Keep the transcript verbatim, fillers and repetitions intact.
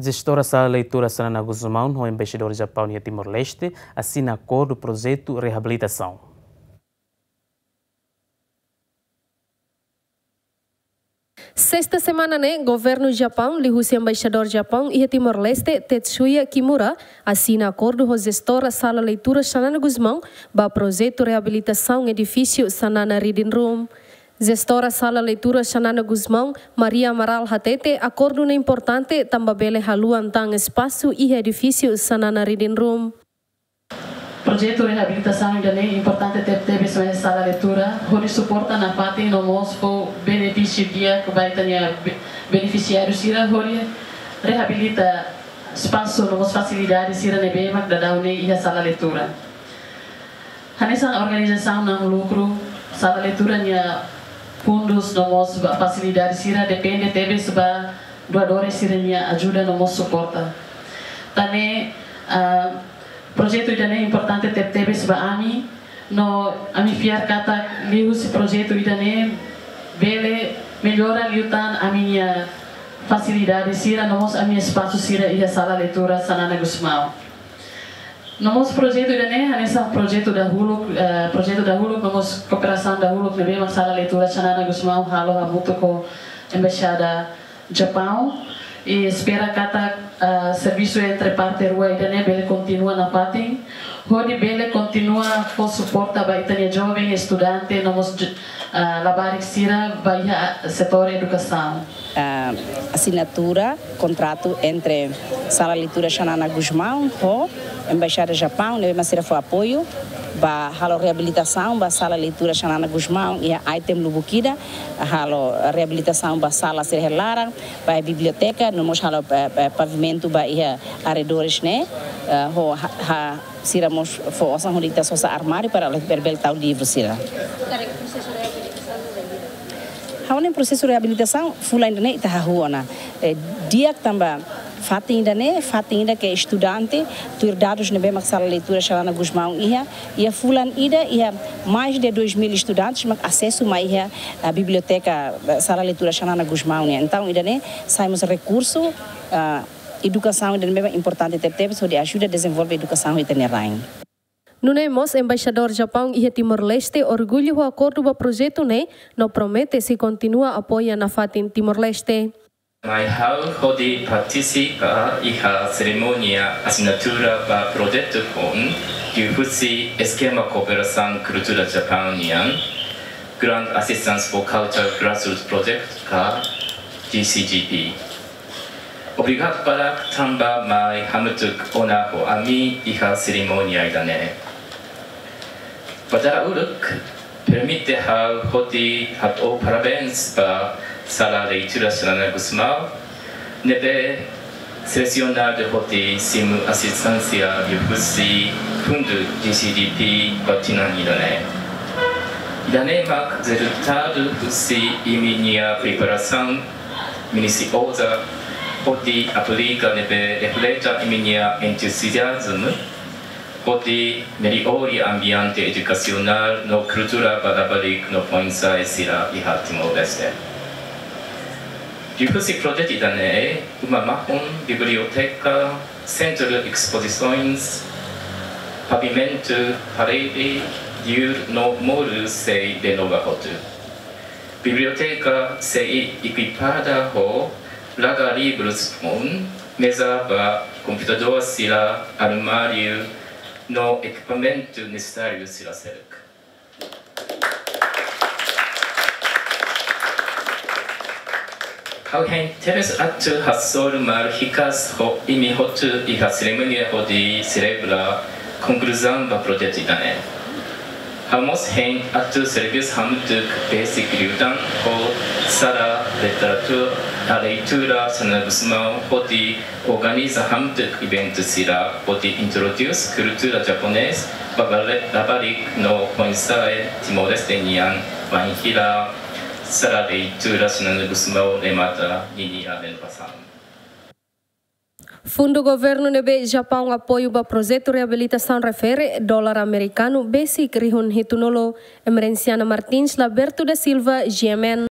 Jestora Sala Leitura Xanana Gusmão ho Embaixadór Japaun iha Timor-Leste asina akordu projetu reabilitasaun. Sesta semana ne'e, Governu Japaun, liuhusi Embaixadór Japaun iha Timor-Leste, Tetsuya Kimura, asina akordu ho jestora Sala Leitura Xanana Gusmão ba projetu reabilitasaun edifísiu Xanana Reading Room. Jestora Sala Leitura Xanana Gusmão, Maria Amaral hatete, akordu ne'e importante tanba bele haluan tan espasu iha edifísiu Xanana Reading Room. Projetu reabilitasaun ida-ne'e importante tebetebes ba sala leitura, hodi suporta nafatin no mós fó benefísiu di'ak ba ita-nia be-, benefisiáriu sira, hodi reabilita espasu no mós fasilidade sira ne'ebé mak daudaun ne'e iha sala leitura. Hanesan organizasaun na'in-lukru, sala leitura nia fundus no mós ba fasilidade sira depende tebes ba doadores sira-nia ajuda no mós suporta. Tan ne'e, ah, projetu ida-ne'e importante tebetebes ba ami, no ami fiar katak liuhusi projetu ida-ne'e bele mellora liután ami-nia fasilidade sira no mós ami-nia espasu sira iha sala leitura Xanana Gusmão. No mós projetu ida-ne'e, hanesan projetu dahuluk, eh, projetu dahuluk, no mós kooperasaun dahuluk ne'ebé mak sala leitura Xanana Gusmão halo hamutuk ho Embaixada Japaun. I espera katak, eh, servisu entre parte rua ida-ne'e bele kontinua nafatin, hodi bele kontinua fó suporta ba ita-nia joven, estudante, no mós j-, ah, labarik sira ba iha setór edukasaun. Ah, asinatura kontratu entre Sala Leitura Xanana Gusmão ho Embaixada Japaun, ne'ebé mak sira fó apoiu ba halo reabilitasaun ba Sala Leitura Xanana Gusmão iha item lubuk ida, halo reabilitasaun ba sala sira iha laran, ba biblioteka, no mós halo, eh, eh, pavimentu ba iha arredores ne'e, eh, ho ha, ha, sira mós fó osan hodi ita sosa armáriu para bele tau livru sira. Karik prosesu reabilitasaun ne'e bainhira? Ha'u hanoin prosesu reabilitasaun fulan ida-ne'e ita hahú ona. Eh, di'ak tanba fatin ida-ne'e, fatin ida ke estudante, tuir dadus ne'ebé mak Sala Leitura Xanana Gusmão iha, iha fulan ida iha mais de dois mil estudantes mak asesu mai iha, ah, biblioteka, eh, Sala Leitura Xanana Gusmão nian. Entaun ida-ne'e sai mós rekursu, ah, edukasaun ida-ne'ebé importante tebetebes hodi ajuda dezenvolve edukasaun iha ita-nia rain. Nune'e mós Embaixadór Japaun iha Timor-Leste orgullu ho akordu ba projetu ne'e no promete sei kontinua apoia nafatin Timor-Leste. Mai ha'u hodi partisipa iha serimónia asinatura ba projetu foun liuhusi eskema kooperasaun kultura Japaun nian, Grant Assistance for Cultural Grassroots Project ka G C G P. Obrigadu barak tanba mai hamutuk ona ho ami iha serimónia ida-ne'e. Ba dala uluk, permite ha'u hodi hato'o parabéns ba Sala Leitura Xanana Gusmão, ne'ebé selesiona hodi simu asisténsia liuhusi fundu G C G P ba tinan ida-ne'e. Ida-ne'e mak rezultadu husi imi-nia preparasaun minusioza hodi aplika ne'ebé refleta imi-nia entuziazmu hodi mellora ambiente edukasionál no kultura ba labarik no foin-sa'e sira iha Timor-Leste. Liuhusi projetu ida-ne'e, uma mahon, biblioteka, sentru de espozisaun, pavimentu, parede, liur no moru sei renova hotu. Biblioteka sei ekipada ho laga-livrus foun, meza ba komputadór sira, armáriu no ekipamentu nesesáriu sira seluk. Ha'u hein tebes atu hasoru malu hikas ho imi hotu iha serimónia hodi selebra konkluzaun ba projetu ida-ne'e. Ha'u mós hein atu servisu hamutuk besik liután ho Sala Literatura, Leitura Xanana Gusmão hodi organiza hamutuk eventu sira hodi introdús kultura japonés ba labarik no foin-sa'e Timor-Leste nian, bainhira Sala Leitura Xanana Gusmão remata ninia renovasaun. Fundu governu ne'ebé Japaun apoiu ba projetu reabilitasaun refere dolar amerikanu besik rihun hitunulu. Emerenciana Martins, Laberto da Silva, G M N.